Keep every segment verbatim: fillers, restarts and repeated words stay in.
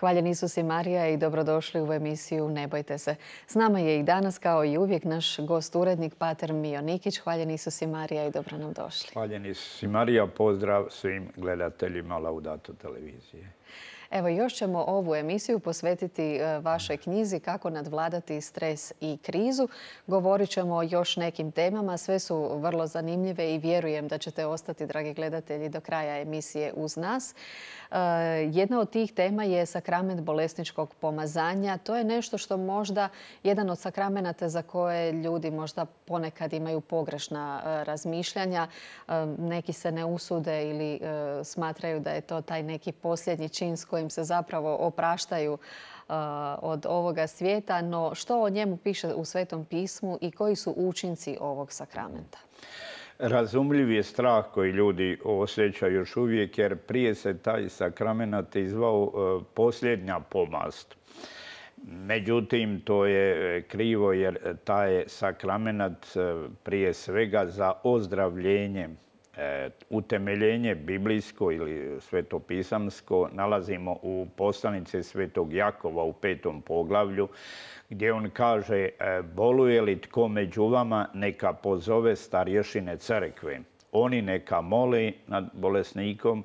Hvaljen Isus i Marija i dobrodošli u emisiju Ne bojte se. S nama je i danas, kao i uvijek, naš gost urednik Pater Mijo Nikić. Hvaljen Isus i Marija i dobro nam došli. Hvaljen Isus i Marija, pozdrav svim gledateljima Laudato televizije. Evo, još ćemo ovu emisiju posvetiti vašoj knjizi Kako nadvladati stres i krizu. Govorit ćemo o još nekim temama. Sve su vrlo zanimljive i vjerujem da ćete ostati, dragi gledatelji, do kraja emisije uz nas. Jedna od tih tema je sakrament bolesničkog pomazanja. To je nešto što možda jedan od sakramenata za koje ljudi možda ponekad imaju pogrešna razmišljanja. Neki se ne usude ili smatraju da je to taj neki posljednji čin s kojim se zapravo opraštaju od ovoga svijeta. No što o njemu piše u Svetom pismu i koji su učinci ovog sakramenta? Razumljiv je strah koji ljudi osjećaju još uvijek, jer prije se taj sakrament izvao posljednja pomast. Međutim, to je krivo, jer taj sakrament prije svega za ozdravljenje, utemeljenje biblijsko ili svetopisamsko nalazimo u poslanici Svetog Jakova u petom poglavlju, gdje on kaže: boluje li tko među vama, neka pozove starješine crkve. Oni neka mole nad bolesnikom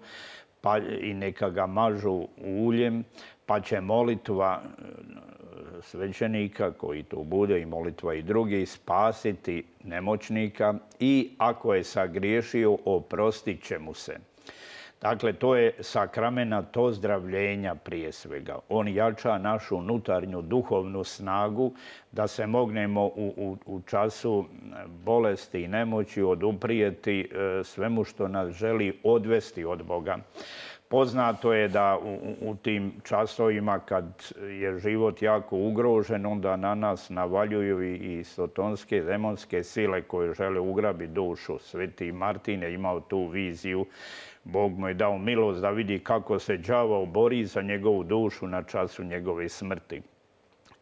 pa i neka ga mažu uljem, pa će molitva svećenika koji to bude i molitva i drugi spasiti nemoćnika i ako je sagriješio, oprostit će mu se. Dakle, to je sakrament ozdravljenja prije svega. On jača našu unutarnju duhovnu snagu da se mognemo u, u, u času bolesti i nemoći oduprijeti svemu što nas želi odvesti od Boga. Poznato je da u, u tim časovima kad je život jako ugrožen, onda na nas navaljuju i, i sotonske, demonske sile koje žele ugrabiti dušu. Sveti Martin je imao tu viziju. Bog mu je dao milost da vidi kako se đavao bori za njegovu dušu na času njegove smrti.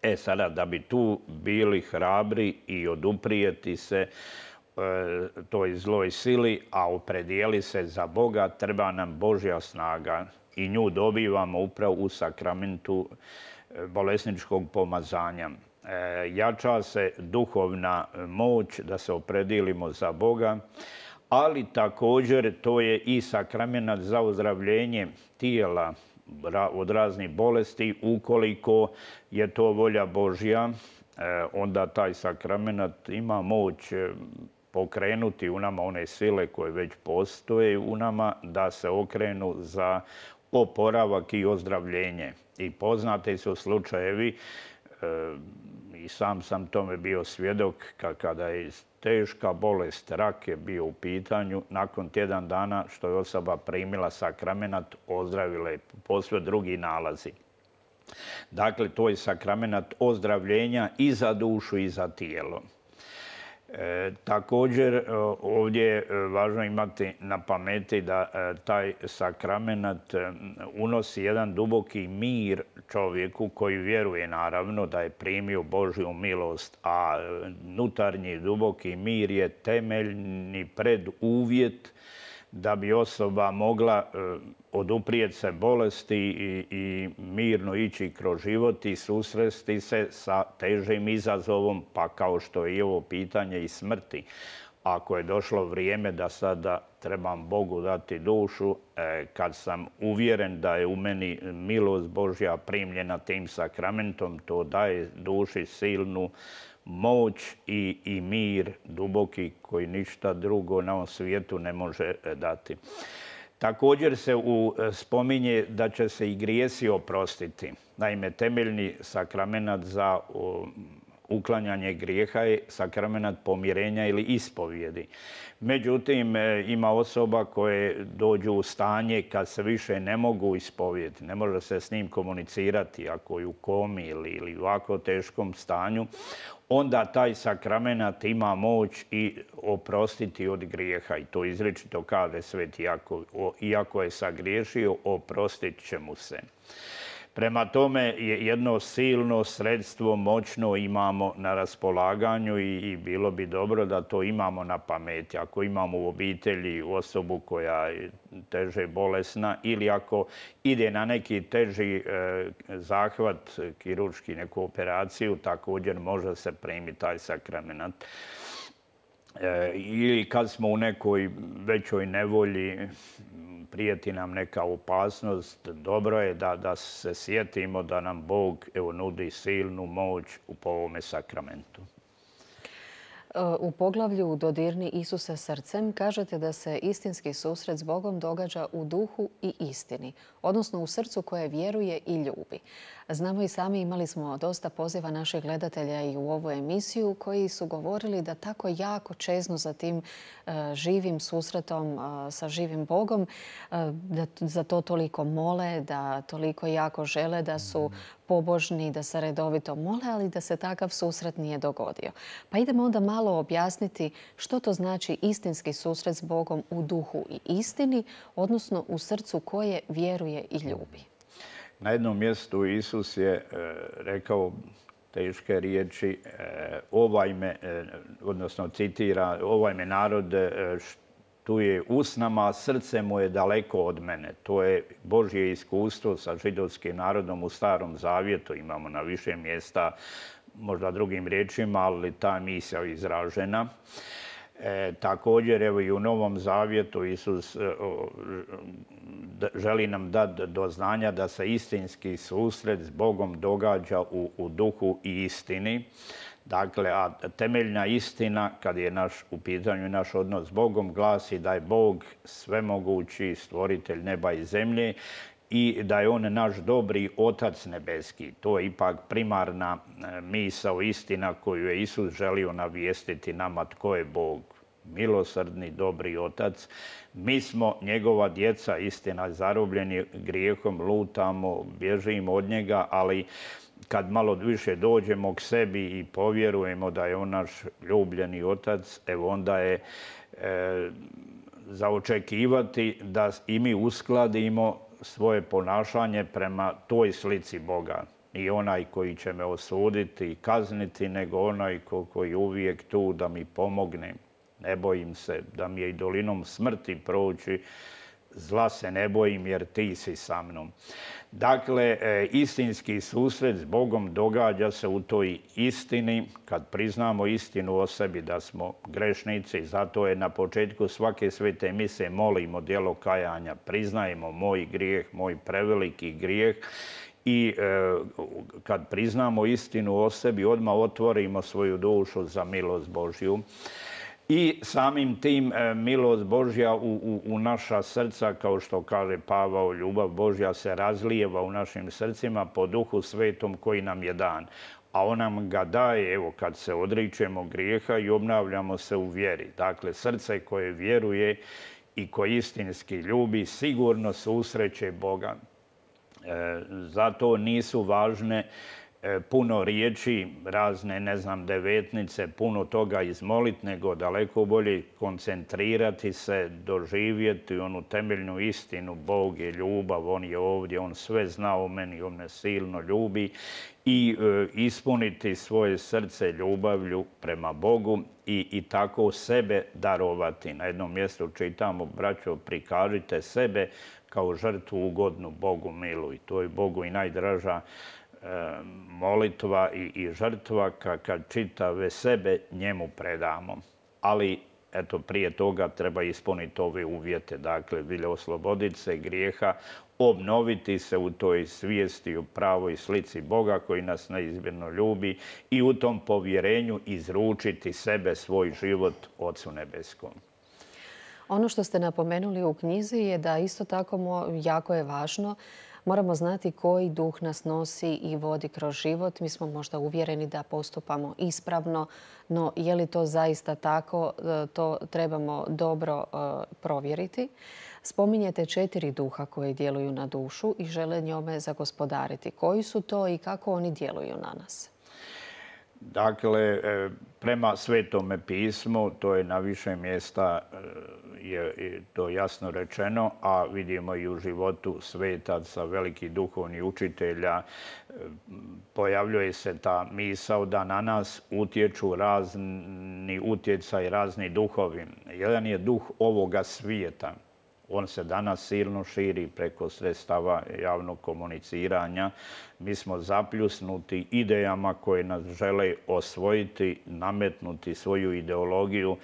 E sada, da bi tu bili hrabri i oduprijeti se toj zloj sili, a opredijeli se za Boga, treba nam Božja snaga i nju dobivamo upravo u sakramentu bolesničkog pomazanja. Jača se duhovna moć da se opredijelimo za Boga, ali također to je i sakrament za ozdravljenje tijela od raznih bolesti. Ukoliko je to volja Božja, onda taj sakrament ima moć pokrenuti u nama one sile koje već postoje u nama da se okrenu za oporavak i ozdravljenje. I poznati su slučajevi, i sam sam tome bio svjedok, kada je teška bolest, rak je bio u pitanju, nakon tjedan dana što je osoba primila sakrament, ozdravila je posve drugi nalazi. Dakle, to je sakrament ozdravljenja i za dušu i za tijelo. E, također, ovdje je važno imati na pameti da e, taj sakrament unosi jedan duboki mir čovjeku koji vjeruje, naravno, da je primio Božju milost, a unutarnji duboki mir je temeljni preduvjet da bi osoba mogla oduprijeti se bolesti i, i mirno ići kroz život i susresti se sa težim izazovom, pa kao što je i ovo pitanje i smrti. Ako je došlo vrijeme da sada trebam Bogu dati dušu, kad sam uvjeren da je u meni milost Božja primljena tim sakramentom, to daje duši silnu moć i, i mir duboki koji ništa drugo na ovom svijetu ne može dati. Također se u, spominje da će se i grijesi oprostiti. Naime, temeljni sakrament za o, uklanjanje grijeha je sakrament pomirenja ili ispovjedi. Međutim, ima osoba koje dođu u stanje kad se više ne mogu ispovjediti, ne može se s njim komunicirati, ako je u komi ili, ili u ovako teškom stanju, onda taj sakrament ima moć i oprostiti od grijeha. I to izričito kaže Sveti Jakov, iako je sagriješio, oprostit će mu se. Prema tome, jedno silno sredstvo moćno imamo na raspolaganju i bilo bi dobro da to imamo na pameti. Ako imamo u obitelji osobu koja je teže bolesna ili ako ide na neki teži zahvat, kirurški, neku operaciju, također može se primiti taj sakramenat. Ili kad smo u nekoj većoj nevolji, prijeti nam neka opasnost, dobro je da, da se sjetimo da nam Bog evo, nudi silnu moć u ovome sakramentu. U poglavlju Dodirni Isuse srcem kažete da se istinski susret s Bogom događa u duhu i istini, odnosno u srcu koje vjeruje i ljubi. Znamo i sami, imali smo dosta poziva naših gledatelja i u ovu emisiju koji su govorili da tako jako čeznu za tim živim susretom sa živim Bogom, da za to toliko mole, da toliko jako žele, da su pobožni, da se redovito mole, ali da se takav susret nije dogodio. Pa idemo onda malo objasniti što to znači istinski susret s Bogom u duhu i istini, odnosno u srcu koje vjeruje i ljubi. Na jednom mjestu Isus je rekao teške riječi, ovaj me, odnosno citira, ovaj me narod tu je usnama, a srce mu je daleko od mene. To je Božje iskustvo sa židovskim narodom u Starom Zavjetu. Imamo na više mjesta, možda drugim riječima, ali ta misao je izražena. E, također, evo i u Novom Zavjetu Isus e, o, želi nam dati do znanja da se istinski susret s Bogom događa u, u duhu i istini. Dakle, a temeljna istina, kad je naš, u pitanju naš odnos s Bogom, glasi da je Bog svemogući stvoritelj neba i zemlje i da je on naš dobri Otac nebeski. To je ipak primarna misao, istina koju je Isus želio navijestiti nama tko je Bog. Milosrdni, dobri Otac. Mi smo njegova djeca, istina, zarobljeni grijehom, lutamo, bježimo od njega, ali kad malo više dođemo k sebi i povjerujemo da je on naš ljubljeni Otac, evo onda je e, za očekivati da i mi uskladimo svoje ponašanje prema toj slici Boga. Nije onaj koji će me osuditi i kazniti, nego onaj ko, koji je uvijek tu da mi pomogne. Ne bojim se da mi je i dolinom smrti proći, zla se ne bojim jer ti si sa mnom. Dakle, istinski susret s Bogom događa se u toj istini, kad priznamo istinu o sebi da smo grešnici. Zato je na početku svake svete mise molimo djelo kajanja, priznajemo moj grijeh, moj preveliki grijeh. I e, kad priznamo istinu o sebi, odmah otvorimo svoju dušu za milost Božju. I samim tim milost Božja u, u, u naša srca, kao što kaže Pavao, ljubav Božja se razlijeva u našim srcima po Duhu Svetom koji nam je dan. A on nam ga daje, evo, kad se odričemo grijeha i obnavljamo se u vjeri. Dakle, srce koje vjeruje i koje istinski ljubi sigurno susreće Boga. E, zato nisu važne puno riječi, razne, ne znam, devetnice, puno toga izmolit, nego daleko bolje koncentrirati se, doživjeti onu temeljnu istinu. Bog je ljubav, on je ovdje, on sve zna o meni, on me silno ljubi i e, ispuniti svoje srce ljubavlju prema Bogu i, i tako sebe darovati. Na jednom mjestu čitamo, braćo, prikažite sebe kao žrtvu ugodnu Bogu milu i to je Bogu i najdraža molitva i, i žrtva kad čitave sebe njemu predamo. Ali, eto, prije toga treba ispuniti ove uvjete. Dakle, vilja osloboditi se grijeha, obnoviti se u toj svijesti u pravoj slici Boga koji nas neizmjerno ljubi i u tom povjerenju izručiti sebe, svoj život Ocu nebeskom. Ono što ste napomenuli u knjizi je da isto tako jako je važno. Moramo znati koji duh nas nosi i vodi kroz život. Mi smo možda uvjereni da postupamo ispravno, no je li to zaista tako, to trebamo dobro provjeriti. Spominjete četiri duha koji djeluju na dušu i žele njome zagospodariti. Koji su to i kako oni djeluju na nas? Dakle, prema Svetome pismu, to je na više mjesta je to jasno rečeno, a vidimo i u životu svetaca, velikih duhovnih učitelja, pojavljuje se ta misao da na nas utječu razni utjecaj, razni duhovi. Jedan je duh ovoga svijeta. On se danas silno širi preko sredstava javnog komuniciranja. Mi smo zapljusnuti idejama koje nas žele osvojiti, nametnuti svoju ideologiju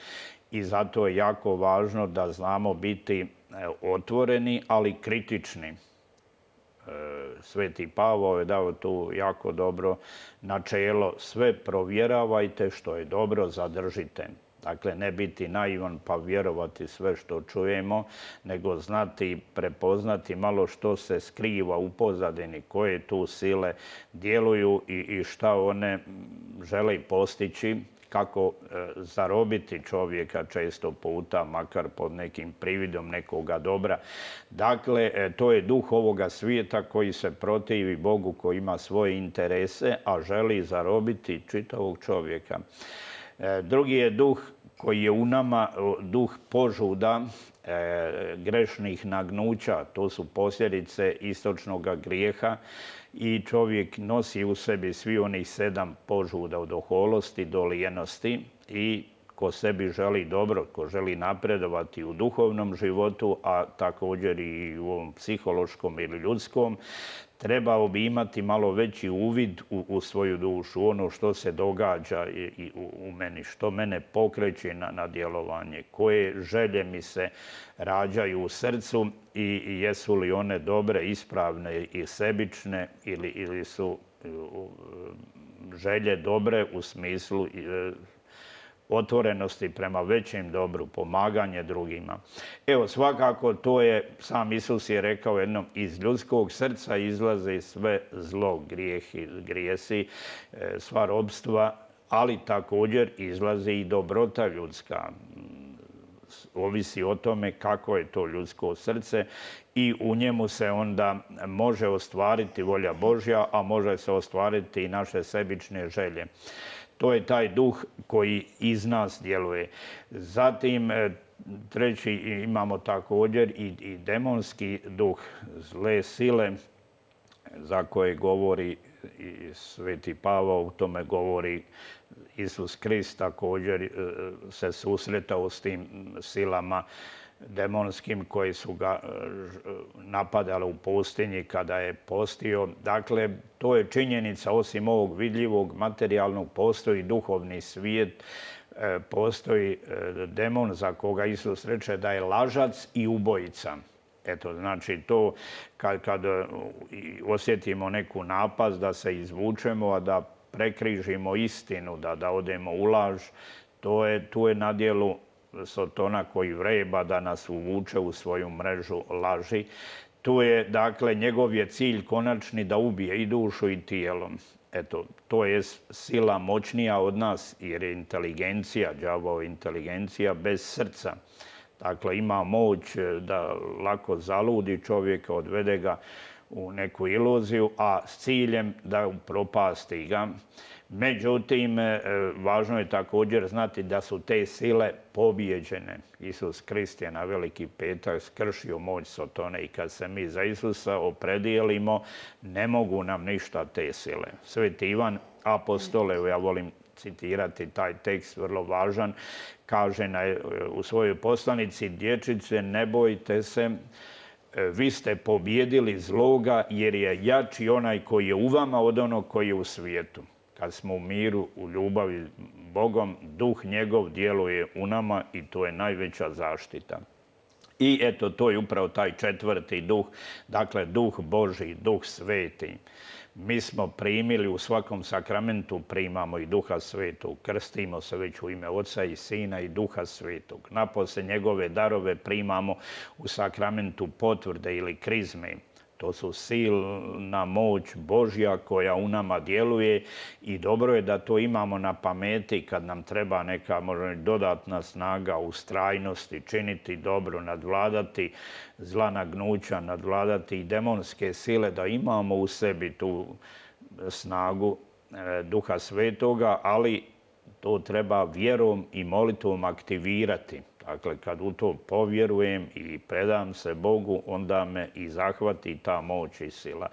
i zato je jako važno da znamo biti otvoreni, ali kritični. Sveti Pavao je dao tu jako dobro načelo. Sve provjeravajte, što je dobro zadržite. Dakle, ne biti naivan pa vjerovati sve što čujemo, nego znati, prepoznati malo što se skriva u pozadini, koje tu sile djeluju i šta one žele postići, kako zarobiti čovjeka često puta, makar pod nekim prividom nekoga dobra. Dakle, to je duh ovoga svijeta koji se protivi Bogu, koji ima svoje interese, a želi zarobiti čitavog čovjeka. Drugi je duh koji je u nama, duh požuda, grešnih nagnuća. To su posljedice istočnog grijeha i čovjek nosi u sebi svi onih sedam požuda od oholosti do lijenosti i ko sebi želi dobro, ko želi napredovati u duhovnom životu, a također i u ovom psihološkom ili ljudskom, trebao bi imati malo veći uvid u, u svoju dušu, ono što se događa i, i u, u meni, što mene pokreće na, na djelovanje, koje želje mi se rađaju u srcu i, i jesu li one dobre, ispravne i sebične ili, ili su želje dobre u smislu otvorenosti prema većem dobru, pomaganje drugima. Evo, svakako to je, sam Isus je rekao jednom, iz ljudskog srca izlaze sve zlo, grijehi, grijesi, sva robstva, ali također izlazi i dobrota ljudska. Ovisi o tome kako je to ljudsko srce i u njemu se onda može ostvariti volja Božja, a može se ostvariti i naše sebične želje. To je taj duh koji iz nas djeluje. Zatim, treći imamo također i, i demonski duh, zle sile za koje govori i Sveti Pavao, u tome govori Isus Krist, također se susretao s tim silama demonskim koji su ga napadali u pustinji kada je postio. Dakle, to je činjenica, osim ovog vidljivog materijalnog, postoji duhovni svijet, postoji demon za koga Isus reče da je lažac i ubojica. Eto, znači to kad, kad osjetimo neku napast da se izvučemo, a da prekrižimo istinu, da, da odemo u laž, to je, tu je na djelu Sotona koji vreba da nas uvuče u svoju mrežu laži. Tu je, dakle, njegov je cilj konačni da ubije i dušu i tijelom. Eto, to je sila moćnija od nas jer je inteligencija, đavao inteligencija bez srca. Dakle, ima moć da lako zaludi čovjeka, odvede ga u neku iluziju, a s ciljem da upropasti ga. Međutim, važno je također znati da su te sile pobijeđene. Isus Krist je na Veliki petak skršio moć Sotone i kad se mi za Isusa opredijelimo, ne mogu nam ništa te sile. Sveti Ivan apostol, evo ja volim citirati taj tekst, vrlo važan, kaže na, u svojoj poslanici: dječice, ne bojte se, vi ste pobijedili zloga jer je jači onaj koji je u vama od onog koji je u svijetu. Kad smo u miru, u ljubavi Bogom, duh njegov djeluje u nama i to je najveća zaštita. I eto, to je upravo taj četvrti duh, dakle duh Božji, duh sveti. Mi smo primili u svakom sakramentu, primamo i duha svetog. Krstimo se već u ime Oca i Sina i duha svetog. Napose njegove darove primamo u sakramentu potvrde ili krizme. To su silna moć Božja koja u nama djeluje i dobro je da to imamo na pameti kad nam treba neka možda dodatna snaga, ustrajnosti, činiti dobro, nadvladati zla nagnuća, nadvladati i demonske sile, da imamo u sebi tu snagu Duha Svetoga, ali to treba vjerom i molitvom aktivirati. Dakle, kad u to povjerujem i predam se Bogu, onda me i zahvati ta moć i sila.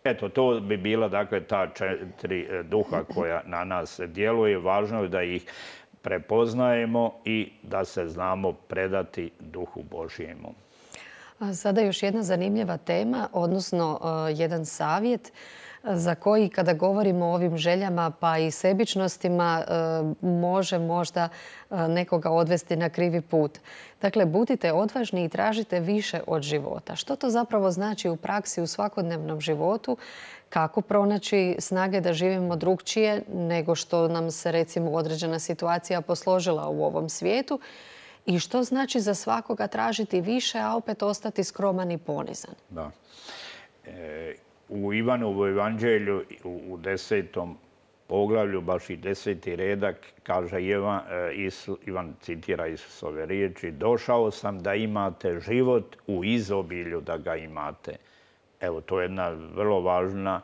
Eto, to bi bila, dakle, ta četiri duha koja na nas djeluje. Važno je da ih prepoznajemo i da se znamo predati duhu Božjemu. Sada još jedna zanimljiva tema, odnosno jedan savjet za koji kada govorimo o ovim željama pa i sebičnostima može možda nekoga odvesti na krivi put. Dakle, budite odvažni i tražite više od života. Što to zapravo znači u praksi u svakodnevnom životu? Kako pronaći snage da živimo drugčije nego što nam se recimo određena situacija posložila u ovom svijetu? I što znači za svakoga tražiti više, a opet ostati skroman i ponizan? Da. E, u Ivanovu evanđelju u desetom poglavlju, baš i deseti redak, kaže Ivan, Ivan citira Isusove riječi, došao sam da imate život u izobilju da ga imate. Evo, to je jedna vrlo važna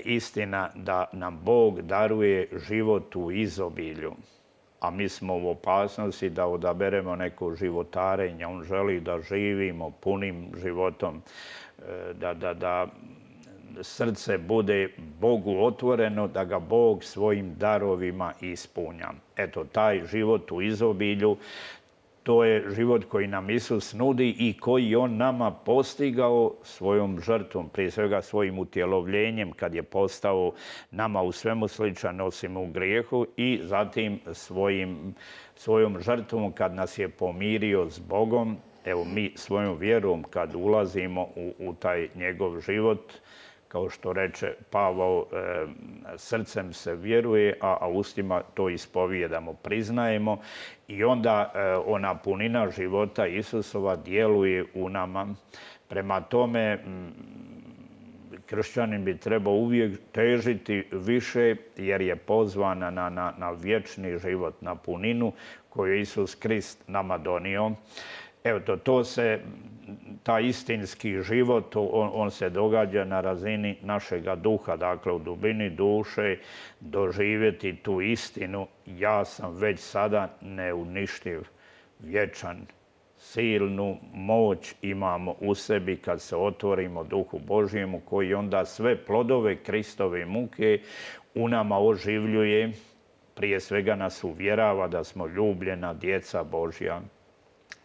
istina da nam Bog daruje život u izobilju. A mi smo u opasnosti da odaberemo neko životarenje. On želi da živimo punim životom, da, da, da srce bude Bogu otvoreno, da ga Bog svojim darovima ispunja. Eto, taj život u izobilju, to je život koji nam Isus nudi i koji on nama postigao svojom žrtvom, prije svega svojim utjelovljenjem kad je postao nama u svemu sličan osim u grijehu i zatim svojim, svojom žrtvom kad nas je pomirio s Bogom. Evo mi svojom vjerom kad ulazimo u, u taj njegov život, kao što reče Pavao, e, srcem se vjeruje, a, a ustima to ispovijedamo, priznajemo i onda e, ona punina života Isusova djeluje u nama. Prema tome, m, kršćanin bi trebao uvijek težiti više jer je pozvan na, na, na vječni život, na puninu koju je Isus Krist nama donio. Evo, to, to se, taj istinski život, on, on se događa na razini našega duha, dakle u dubini duše, doživjeti tu istinu. Ja sam već sada neuništiv, vječan, silnu moć imamo u sebi kad se otvorimo duhu Božjemu, koji onda sve plodove Kristove muke u nama oživljuje. Prije svega nas uvjerava da smo ljubljena djeca Božja,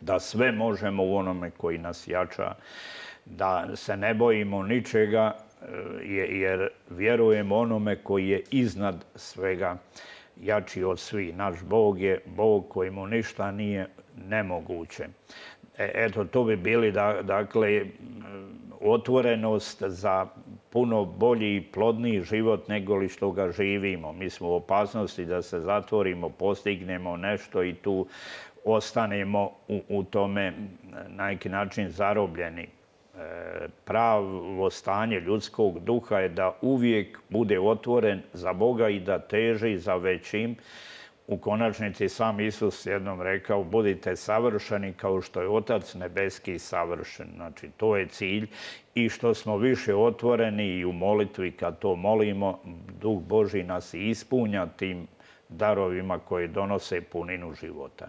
da sve možemo u onome koji nas jača, da se ne bojimo ničega jer vjerujemo onome koji je iznad svega, jači od svih. Naš Bog je Bog kojemu ništa nije nemoguće. Eto, to bi bili, dakle, otvorenost za puno bolji i plodniji život nego li što ga živimo. Mi smo u opasnosti da se zatvorimo, postignemo nešto i tu ostanemo u, u tome na neki način zarobljeni. E, pravo stanje ljudskog duha je da uvijek bude otvoren za Boga i da teži za većim. U konačnici sam Isus jednom rekao, budite savršeni kao što je Otac nebeski savršen. Znači, to je cilj i što smo više otvoreni i u molitvi kad to molimo, Duh Božji nas ispunja tim darovima koji donose puninu života.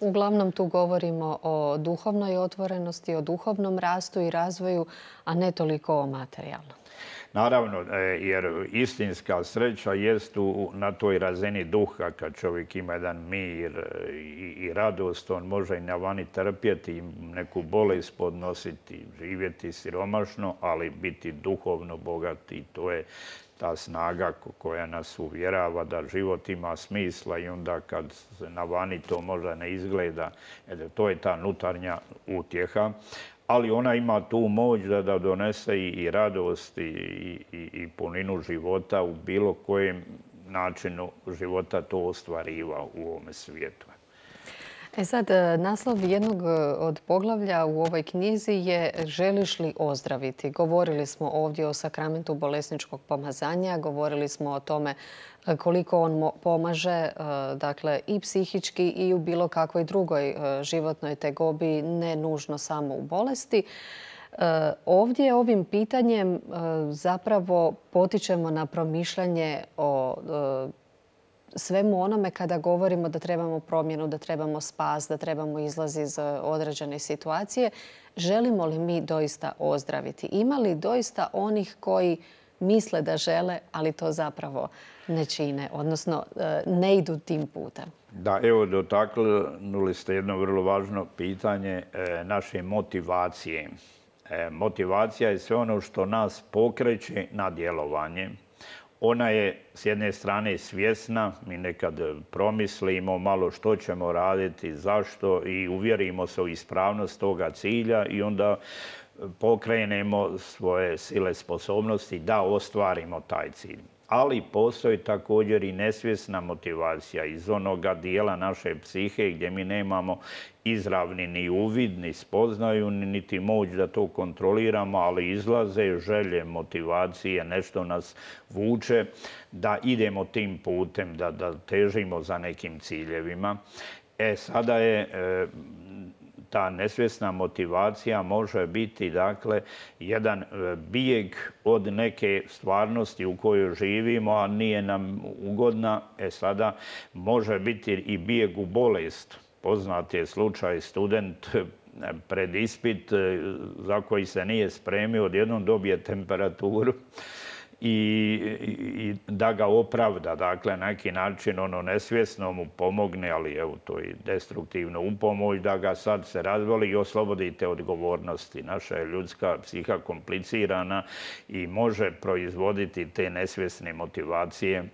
Uglavnom tu govorimo o duhovnoj otvorenosti, o duhovnom rastu i razvoju, a ne toliko o materijalnom. Naravno, jer istinska sreća jest na toj razini duha. Kad čovjek ima jedan mir i radost, on može i na vani trpjeti, neku bolest podnositi, živjeti siromašno, ali biti duhovno bogati. To je ta snaga koja nas uvjerava da život ima smisla i onda kad se na vani to možda ne izgleda, to je ta unutarnja utjeha. Ali ona ima tu moć da, da donese i, i radost i, i, i puninu života u bilo kojem načinu života to ostvariva u ovome svijetu. E sad, naslov jednog od poglavlja u ovoj knjizi je Želiš li ozdraviti? Govorili smo ovdje o sakramentu bolesničkog pomazanja, govorili smo o tome koliko on pomaže, dakle, i psihički i u bilo kakvoj drugoj životnoj tegobi, ne nužno samo u bolesti. Ovdje ovim pitanjem zapravo potičemo na promišljanje o svemu onome kada govorimo da trebamo promjenu, da trebamo spas, da trebamo izlaz iz određene situacije. Želimo li mi doista ozdraviti? Ima li doista onih koji misle da žele, ali to zapravo ne čine, odnosno ne idu tim putem? Da, evo, dotaknuli ste jedno vrlo važno pitanje naše motivacije. Motivacija je sve ono što nas pokreće na djelovanje. Ona je s jedne strane svjesna, mi nekad promislimo malo što ćemo raditi, zašto i uvjerimo se u ispravnost toga cilja i onda pokrenemo svoje sile, sposobnosti da ostvarimo taj cilj. Ali postoji također i nesvjesna motivacija iz onoga dijela naše psihe gdje mi nemamo izravni ni uvid, ni spoznaju, niti moć da to kontroliramo, ali izlaze želje, motivacije, nešto nas vuče da idemo tim putem, da, da težimo za nekim ciljevima. E, sada je e, ta nesvjesna motivacija može biti, dakle, jedan bijeg od neke stvarnosti u kojoj živimo, a nije nam ugodna. E sada može biti i bijeg u bolest. Poznat je slučaj student pred ispit za koji se nije spremio, odjednom dobije temperaturu i, i da ga opravda. Dakle, na neki način ono nesvjesno mu pomogne, ali evo to je destruktivno upomoć, da ga sad se razvoli i oslobodite odgovornosti. Naša je ljudska psiha komplicirana i može proizvoditi te nesvjesne motivacije.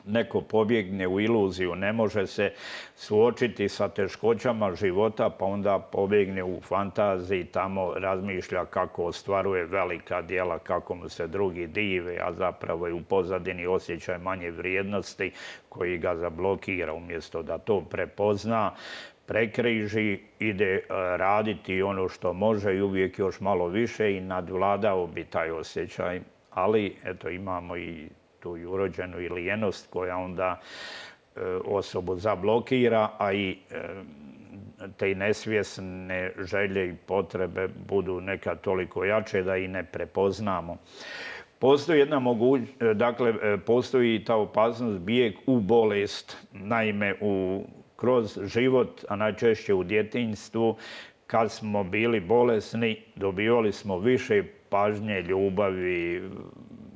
Neko pobjegne u iluziju, ne može se suočiti sa teškoćama života, pa onda pobjegne u fantaziji, tamo razmišlja kako ostvaruje velika djela, kako mu se drugi dive, a zapravo je u pozadini osjećaj manje vrijednosti koji ga zablokira. Umjesto da to prepozna, prekriži, ide raditi ono što može i uvijek još malo više i nadvladao bi taj osjećaj. Ali, eto, imamo i tu i urođenu i lijenost koja onda e, osobu zablokira, a i e, te nesvjesne želje i potrebe budu nekad toliko jače da i ne prepoznamo. Postoji jedna mogućnost, dakle, postoji ta opasnost bijeg u bolest. Naime, u, kroz život, a najčešće u djetinjstvu, kad smo bili bolesni, dobivali smo više pažnje, ljubavi,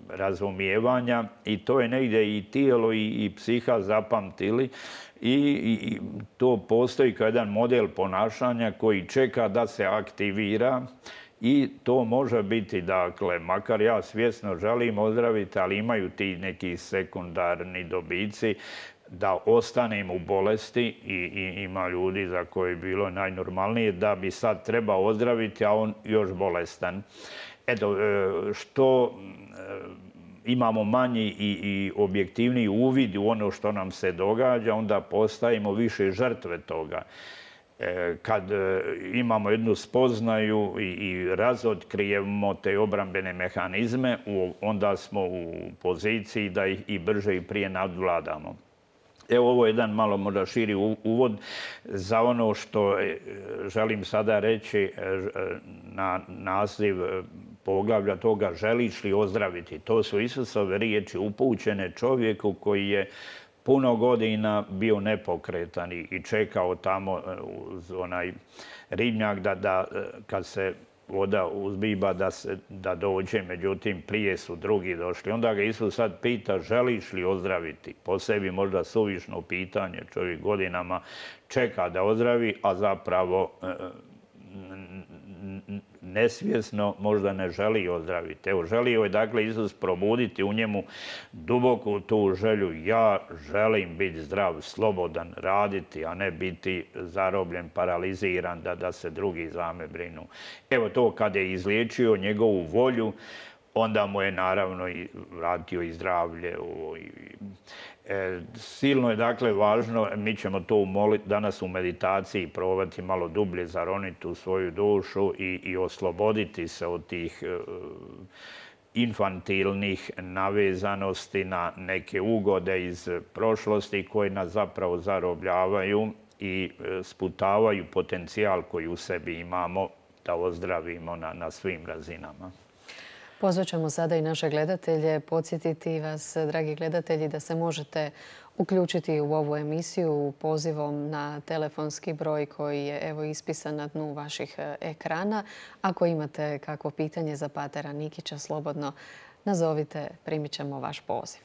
razumijevanja i to je negdje i tijelo i, i psiha zapamtili i, i to postoji kao jedan model ponašanja koji čeka da se aktivira i to može biti, dakle, makar ja svjesno želim ozdraviti, ali imaju ti neki sekundarni dobici da ostanem u bolesti i, i ima ljudi za koje je bilo najnormalnije da bi sad trebao ozdraviti, a on još bolestan. Eto, što imamo manji i, i objektivniji uvid u ono što nam se događa, onda postajemo više žrtve toga. Kad imamo jednu spoznaju i, i razotkrijemo te obrambene mehanizme, onda smo u poziciji da ih i brže i prije nadvladamo. Evo, ovo je jedan malo možda širi uvod za ono što želim sada reći na naziv poglavlja toga želiš li ozdraviti. To su Isusove riječi upućene čovjeku koji je puno godina bio nepokretan i čekao tamo uz onaj ribnjak da, da kad se voda uzbiba da, se, da dođe, međutim prije su drugi došli. Onda ga Isus sad pita želiš li ozdraviti? Po sebi možda suvišno pitanje, čovjek godinama čeka da ozdravi, a zapravo nesvjesno možda ne želi ozdraviti. Evo, želio je dakle Isus probuditi u njemu duboku tu želju. Ja želim biti zdrav, slobodan, raditi, a ne biti zarobljen, paraliziran, da, da se drugi za me brinu. Evo to kad je izliječio njegovu volju, onda mu je naravno i vratio i zdravlje. E, silno je dakle važno, mi ćemo to danas u meditaciji probati malo dublje zaroniti u svoju dušu i, i osloboditi se od tih e, infantilnih navezanosti na neke ugode iz prošlosti koje nas zapravo zarobljavaju i e, sputavaju potencijal koji u sebi imamo da ozdravimo na, na svim razinama. Pozvat ćemo sada i naše gledatelje, podsjetiti vas, dragi gledatelji, da se možete uključiti u ovu emisiju pozivom na telefonski broj koji je evo ispisan na dnu vaših ekrana. Ako imate kakvo pitanje za patera Nikića, slobodno nazovite, primit ćemo vaš poziv.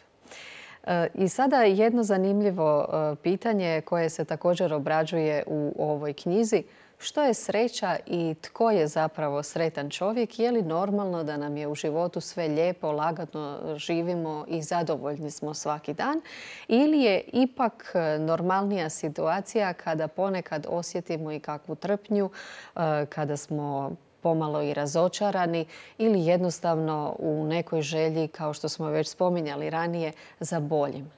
I sada jedno zanimljivo pitanje koje se također obrađuje u ovoj knjizi. Što je sreća i tko je zapravo sretan čovjek? Je li normalno da nam je u životu sve lijepo, lagano živimo i zadovoljni smo svaki dan? Ili je ipak normalnija situacija kada ponekad osjetimo i kakvu trpnju, kada smo pomalo i razočarani ili jednostavno u nekoj želji, kao što smo već spominjali ranije, za boljim?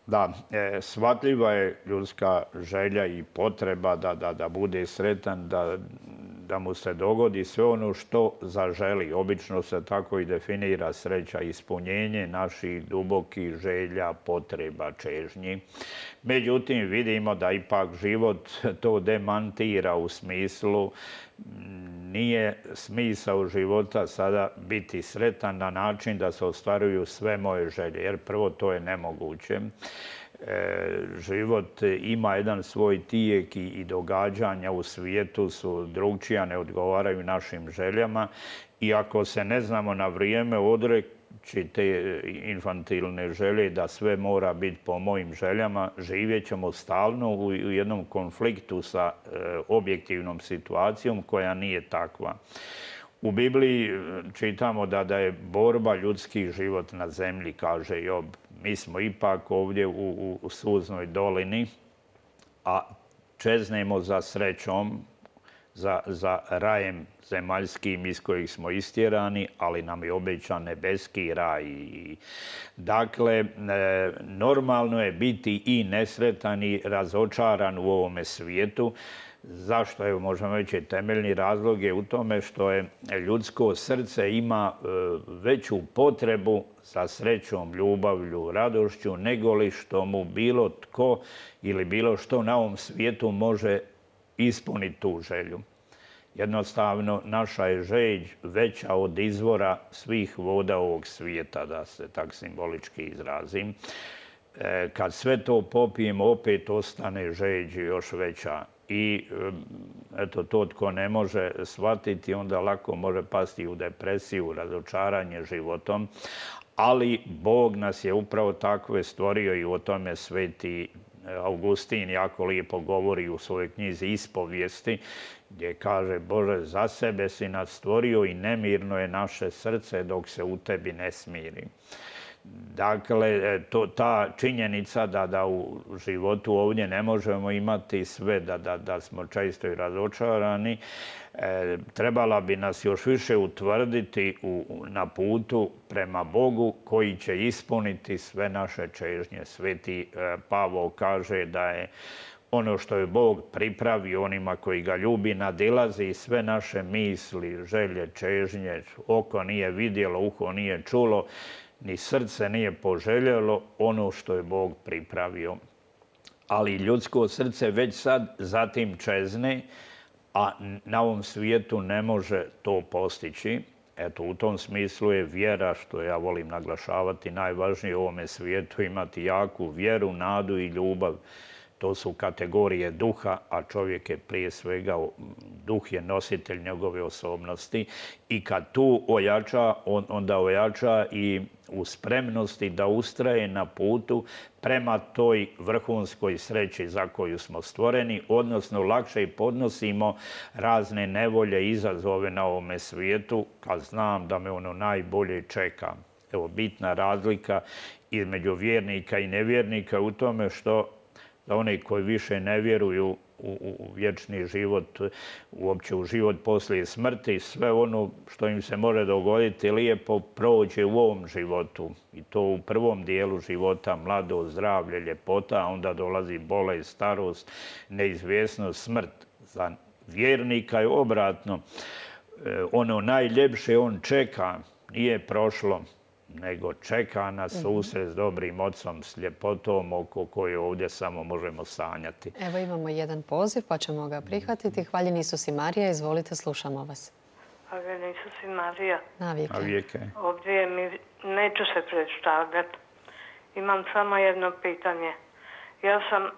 Da, e, shvatljiva je ljudska želja i potreba da, da, da bude sretan, da, da mu se dogodi sve ono što zaželi. Obično se tako i definira sreća, ispunjenje naših dubokih želja, potreba, čežnji. Međutim, vidimo da ipak život to demantira u smislu nije smisao života sada biti sretan na način da se ostvaruju sve moje želje, jer prvo to je nemoguće. E, život ima jedan svoj tijek i, i događanja u svijetu su drugčija, ne odgovaraju našim željama i ako se ne znamo na vrijeme odreći te infantilne želje da sve mora biti po mojim željama, živjet ćemo stalno u, u jednom konfliktu sa e, objektivnom situacijom koja nije takva. U Bibliji čitamo da, da je borba ljudski život na zemlji, kaže Job. Mi smo ipak ovdje u, u, u suznoj dolini, a čeznemo za srećom, za, za rajem zemaljskim iz kojih smo istjerani, ali nam je obećan nebeski raj. Dakle, normalno je biti i nesretan i razočaran u ovome svijetu. Zašto? Evo, možemo reći, temeljni razlog je u tome što je ljudsko srce ima veću potrebu za srećom, ljubavlju, radošću, nego li što mu bilo tko ili bilo što na ovom svijetu može ispuniti tu želju. Jednostavno, naša je želj veća od izvora svih voda ovog svijeta, da se tak simbolički izrazim. Kad sve to popijemo, opet ostane želj još veća. I eto, to tko ne može shvatiti, onda lako može pasti u depresiju, razočaranje životom. Ali Bog nas je upravo takve stvorio i o tome sveti Augustin jako lijepo govori u svojoj knjizi Ispovijesti, gdje kaže: Bože, za sebe si nas stvorio i nemirno je naše srce dok se u tebi ne smiri. Dakle, to, ta činjenica da, da u životu ovdje ne možemo imati sve, da, da, da smo često i razočarani, e, trebala bi nas još više utvrditi u, na putu prema Bogu koji će ispuniti sve naše čežnje. Sveti e, Pavao kaže da je ono što je Bog pripravio onima koji ga ljubi nadilazi sve naše misli, želje, čežnje. Oko nije vidjelo, uho nije čulo, ni srce nije poželjelo ono što je Bog pripravio. Ali ljudsko srce već sad zatim čezne, a na ovom svijetu ne može to postići. Eto, u tom smislu je vjera, što ja volim naglašavati, najvažnije u ovome svijetu, imati jaku vjeru, nadu i ljubav. To su kategorije duha, a čovjek je prije svega, duh je nositelj njegove osobnosti. I kad tu ojača, on, onda ojača i u spremnosti da ustraje na putu prema toj vrhunskoj sreći za koju smo stvoreni, odnosno lakše podnosimo razne nevolje i izazove na ovome svijetu, kad znam da me ono najbolje čeka. Evo, bitna razlika između vjernika i nevjernika u tome što za one koji više ne vjeruju u, u vječni život, uopće u život poslije smrti, sve ono što im se može dogoditi lijepo prođe u ovom životu. I to u prvom dijelu života, mladost, zdravlje, ljepota, a onda dolazi bolest, starost, neizvjesnost, smrt. Za vjernika je obratno. Ono najljepše on čeka, nije prošlo, nego čeka na susret s dobrim ocom, s ljepotom oko koje ovdje samo možemo sanjati. Evo imamo jedan poziv pa ćemo ga prihvatiti. Hvaljeni Isus i Marija, izvolite, slušamo vas. Hvaljeni Isus i Marija. Navijeke. Navijeke. Ovdje mi neću se predstavljati. Imam samo jedno pitanje. Ja sam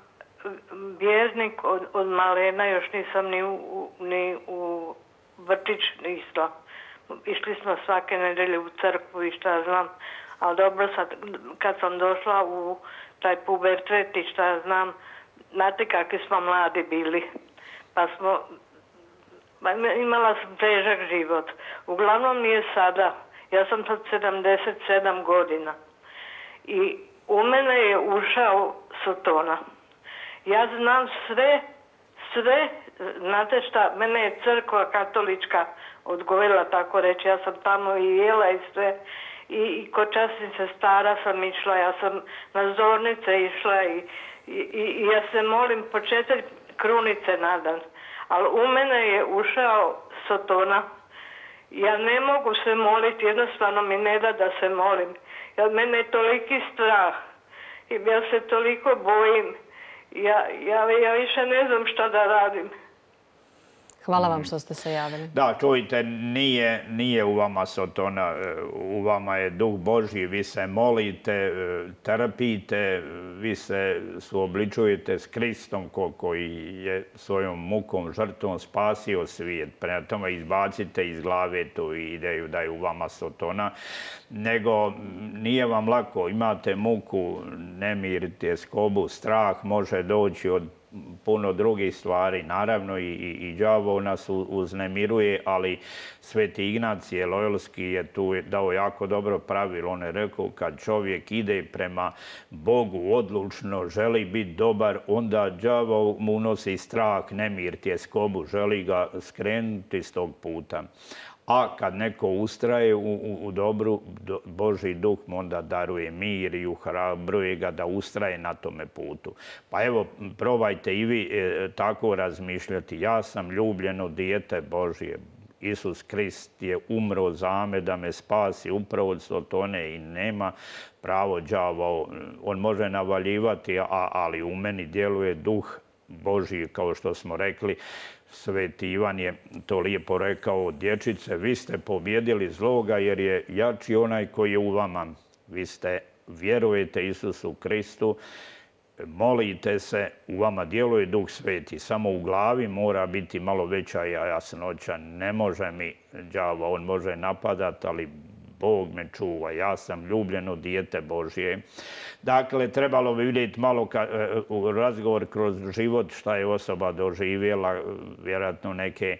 vjernik od, od malena, još nisam ni u, ni u vrtić išla. Išli smo svake nedelje u crkvu i šta znam. Ali dobro, sad, kad sam došla u taj pubertet i šta znam, znate kakvi smo mladi bili. Pa smo, imala sam težak život. Uglavnom mi je sada, ja sam sad sedamdeset sedam godina. I u mene je ušao Sotona. Ja znam sve, sve, znate šta, mene je crkva katolička odgojila, tako reći. Ja sam tamo i jela i sve. I, i kod časnice stara sam išla, ja sam na zornice išla i, i, i ja se molim po četiri krunice na dan. Ali u mene je ušao Sotona. Ja ne mogu se moliti, jednostavno mi ne da da se molim. Jer mene je toliki strah i ja se toliko bojim. Ja, ja, ja više ne znam šta da radim. Hvala vam što ste se javili. Da, čujte, nije, nije u vama Sotona, u vama je Duh Božji, vi se molite, trpite, vi se suobličujete s Kristom ko, koji je svojom mukom, žrtvom spasio svijet. Prema tome izbacite iz glave tu ideju da je u vama Sotona, nego nije vam lako, imate muku, nemir, tjeskobu, strah može doći od puno drugih stvari. Naravno i, i, i đavo nas uznemiruje, ali Sveti Ignacije Lojolski je tu dao jako dobro pravilo. On je rekao, kad čovjek ide prema Bogu odlučno, želi biti dobar, onda đavo mu unosi strah, nemir, tjeskobu, želi ga skrenuti s tog puta. A kad neko ustraje u, u, u dobru, do, Božji duh mu onda daruje mir i uhrabruje ga da ustraje na tome putu. Pa evo, probajte i vi e, tako razmišljati. Ja sam ljubljeno dijete Božje. Isus Krist je umro za me da me spasi upravo od Sotone i nema pravo đavo. On može navaljivati, a, ali u meni djeluje duh Božji, kao što smo rekli. Sveti Ivan je to lijepo rekao, dječice, vi ste pobjedili zloga jer je jači onaj koji je u vama. Vi ste, vjerujete Isusu Kristu, molite se, u vama djeluje Duh Sveti. Samo u glavi mora biti malo veća jasnoća. Ne može mi đavo, on može napadati, ali Bog me čuva, ja sam ljubljeno dijete Božje. Dakle, trebalo bi vidjeti malo ka, u razgovor kroz život šta je osoba doživjela, vjerojatno neke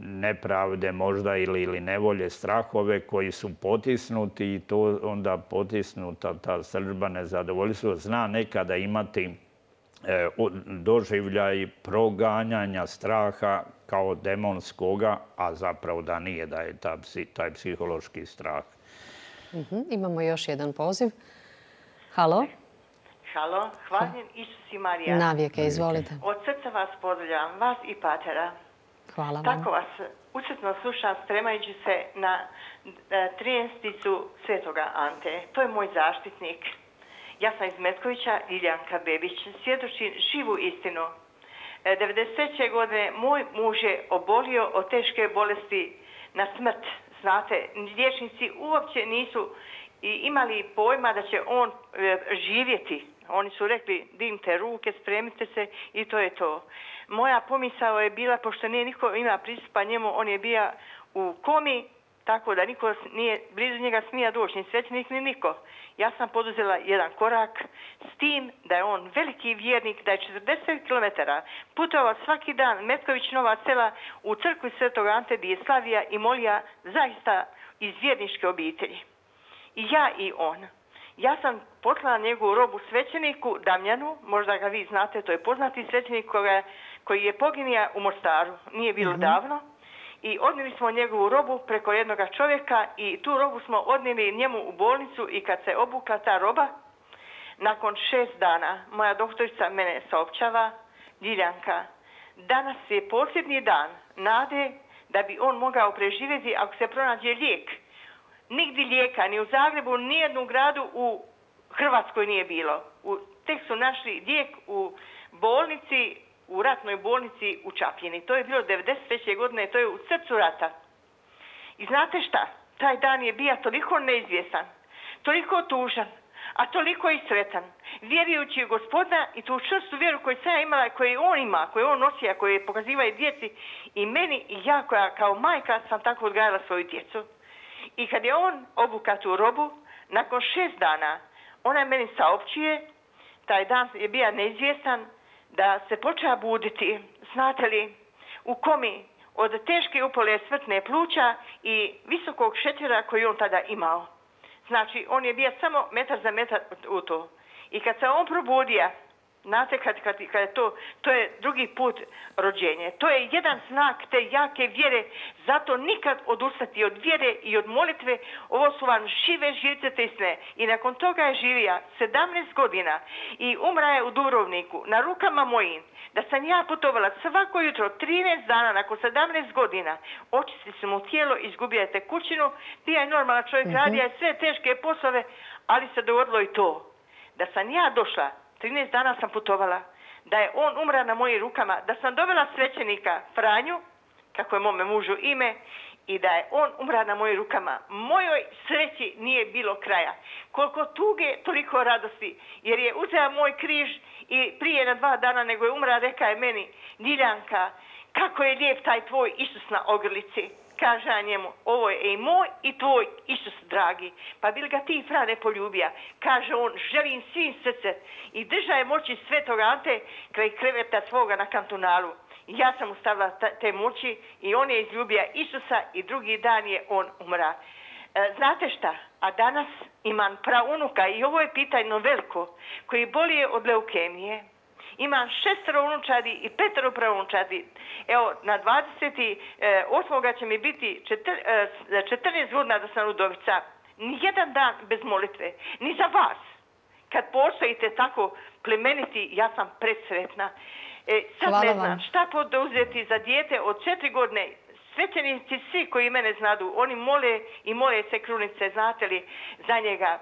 nepravde možda ili, ili nevolje, strahove koji su potisnuti i to onda potisnuta ta srdžba, nezadovoljstvo. Zna nekada imati e, doživljaj proganjanja straha kao demonskoga, a zapravo da nije, da je ta, taj psihološki strah. Uh-huh. Imamo još jedan poziv. Halo? Halo, hvaljen Isus i Marija. Navijeke, izvolite. Od srca vas pozdravljam, vas i patera. Hvala vam. Tako vas učetno slušam spremajući se na trijesnicu Svetoga Ante. To je moj zaštitnik. Ja sam iz Metkovića, Liljanka Bebić, svjedočim živu istinu. devedeset treće godine moj muž je obolio od teške bolesti na smrt. Znate, liječnici uopće nisu imali pojma da će on živjeti. Oni su rekli, dimte ruke, spremite se i to je to. Moja pomisao je bila, pošto nije niko ima pristupa njemu, on je bio u komi, tako da niko nije blizu njega smija doći, ni svećenik, ni niko. Ja sam poduzela jedan korak s tim da je on veliki vjernik, da je četrdeset kilometara putovao svaki dan Metković Nova Sela u crkvi Svetog Ante gdje je slavija i molija zaista iz vjerničke obitelji. I ja i on. Ja sam poslala njegovu robu svećeniku Damjanu, možda ga vi znate, to je poznati svećenik koga, koji je poginija u Mostaru, nije bilo mm-hmm. davno. I odnijeli smo njegovu robu preko jednog čovjeka i tu robu smo odnijeli njemu u bolnicu i kad se obukla ta roba, nakon šest dana moja doktorica mene saopćava, Ljiljanka, danas je posljednji dan nade da bi on mogao preživjeti ako se pronađe lijek. Nigdje lijeka, ni u Zagrebu, ni jednu gradu u Hrvatskoj nije bilo. U, tek su našli lijek u bolnici, u ratnoj bolnici u Čapljini. To je bilo devedeset treće godine, to je u srcu rata. I znate šta? Taj dan je bio toliko neizvjestan, toliko tužan, a toliko i sretan. Vjerujući u Gospodina i tu čvrstu vjeru koju sam ja imala, koju on ima, koju on nosi, a koju pokaziva i djeci i meni i ja koja kao majka sam tako odgajala svoju djecu. I kad je on obuka tu robu, nakon šest dana, ona meni saopćuje, taj dan je bio neizvjestan, da se počeo buditi, znate li, u komi od teške upale smrtne pluća i visokog šećera koji on tada imao. Znači, on je bio samo metar za metar u to. I kad se on probudio, znate, kad, kad, kad je to, to je drugi put rođenje. To je jedan znak te jake vjere, zato nikad odustati od vjere i od molitve. Ovo su vam žive živce te sne. I nakon toga je živija sedamnaest godina i umra je u Dubrovniku na rukama mojim. Da sam ja putovala svako jutro trinaest dana nakon sedamnaest godina. Očisti se mu tijelo, izgubio je tekućinu, bio je normalan čovjek, mm-hmm. radio je sve teške poslove, ali se dogodilo i to. Da sam ja došla, trinaest dana sam putovala, da je on umra na mojim rukama, da sam dobila svećenika Franju, kako je mome mužu ime, i da je on umra na mojim rukama. Mojoj sreći nije bilo kraja. Koliko tuge, toliko radosti, jer je uzeo moj križ i prije na dva dana nego je umra, reka je meni, Ljiljanka, kako je lijep taj tvoj Isus na ogrlici. Kaže ja njemu, ovo je i moj i tvoj Isus, dragi. Pa bil ga ti, Frane, poljubija. Kaže on, želim svim srce. I drža je moći svetog Ante kraj kreveta svoga na kantonalu. Ja sam mu stavila te moći i on je izljubio Isusa i drugi dan je on umra. E, znate šta? A danas imam praunuka i ovo je pitanje veliko, koji bolije od leukemije. Imam šestero unučadi i petero praunučadi. Evo, na dvadeset osmog će mi biti četrnaest godina da sam udovica. Nijedan dan bez molitve. Ni za vas. Kad postojite tako plemeniti, ja sam presretna. E, sad Hvala ne znam vam. šta poduzeti za dijete od četiri godine. Svećenici svi koji mene znadu, oni mole i mole se krunice, znate li, za njega.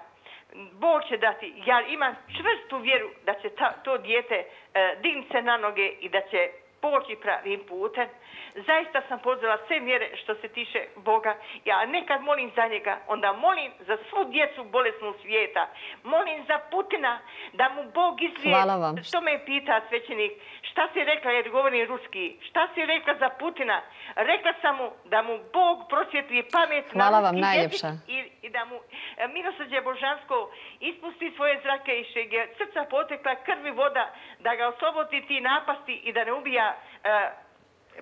Bog će dati. Ja imam čvrstu vjeru da će ta, to dijete e, dignuti se na noge i da će poći pravim putem. Zaista sam pozvala sve mjere što se tiče Boga. Ja nekad molim za njega, onda molim za svu djecu bolesnu svijeta. Molim za Putina da mu Bog izlije. Hvala vam. Što me pita svećenik, šta si rekla jer govorim ruski, šta si rekla za Putina? Rekla sam mu da mu Bog prosvjetli pamet Hvala na vam ruski najljepša. jezik i, i da mu e, milosrđe Božansko ispusti svoje zrake iz čega je srca potekla krvi voda, da ga oslobodi ti napasti i da ne ubija e,